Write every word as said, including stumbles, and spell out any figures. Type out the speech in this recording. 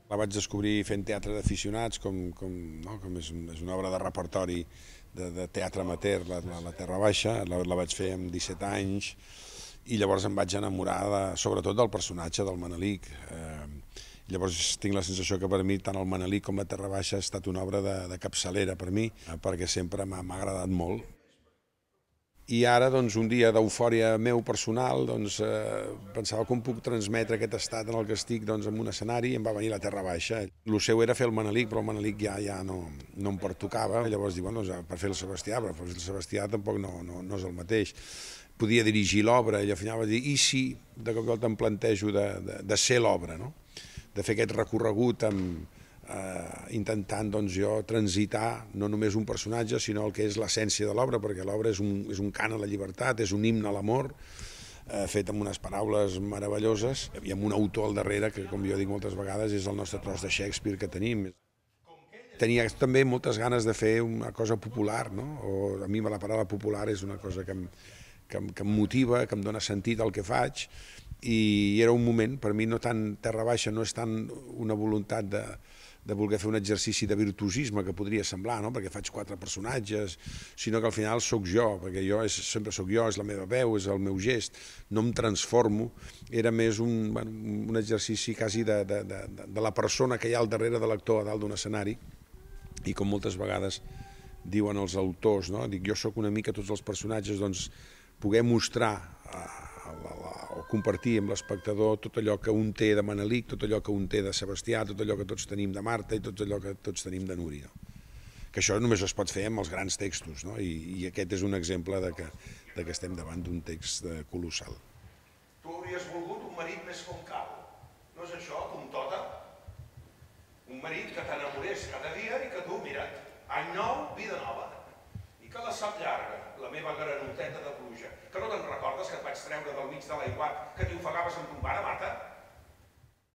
La vaig descobrir fent teatre d'aficionats, com, com, no? com és, és una obra de repertori de, de teatre amateur, la, la, la Terra Baixa, la, la vaig fer amb disset anys, i llavors em vaig enamorar de, sobretot del personatge del Manelic. Eh, llavors tinc la sensació que per mi tant el Manelic com la Terra Baixa ha estat una obra de, de capçalera per mi, eh, perquè sempre m'ha agradat molt. I ara, doncs, un dia d'eufòria meu personal, doncs, eh, pensava com puc transmetre aquest estat en el que estic doncs, en un escenari, i em va venir la Terra Baixa. El seu era fer el Manelic, però el Manelic ja, ja no, no em pertocava. Llavors dic, bueno, doncs, per fer el Sebastià, però per fer el Sebastià tampoc no, no, no és el mateix. Podia dirigir l'obra, i al final vaig dir, i si de cop i volta em plantejo de, de, de ser l'obra, no? De fer aquest recorregut amb, eh, intentant doncs, jo transitar no només un personatge, sinó el que és l'essència de l'obra, perquè l'obra és, un, és un cant a la llibertat, és un himne a l'amor, eh, fet amb unes paraules meravelloses i amb un autor al darrere que, com jo dic moltes vegades, és el nostre tros de Shakespeare que tenim. Tenia també moltes ganes de fer una cosa popular, no? O a mi la paraula popular és una cosa que em, que em, que em motiva, que em dona sentit al que faig, i era un moment, per mi no tant Terra Baixa, no és tant una voluntat de, de voler fer un exercici de virtuosisme que podria semblar, no? Perquè faig quatre personatges, sinó que al final sóc jo, perquè jo és, sempre sóc jo, és la meva veu, és el meu gest, no em transformo, era més un, bueno, un exercici quasi de, de, de, de la persona que hi ha al darrere de l'actor a dalt d'un escenari, i com moltes vegades diuen els autors, no? Dic, jo sóc una mica tots els personatges, doncs poder mostrar eh, o compartir amb l'espectador tot allò que un té de Manelic, tot allò que un té de Sebastià, tot allò que tots tenim de Marta i tot allò que tots tenim de Núria. Que això només es pot fer amb els grans textos, no? I, i aquest és un exemple de que, de que estem davant d'un text colossal. Tu hauries volgut un marit més com cal, no és això, com tota? Un marit que t'enamorés cada dia i que tu, mira't, any nou, vida nova. I que la sap llarga, la meva granoteta de pluja, que no te'n recordes que et vaig treure del mig de l'aiguat, que t'hi ofegaves amb ton pare, Marta?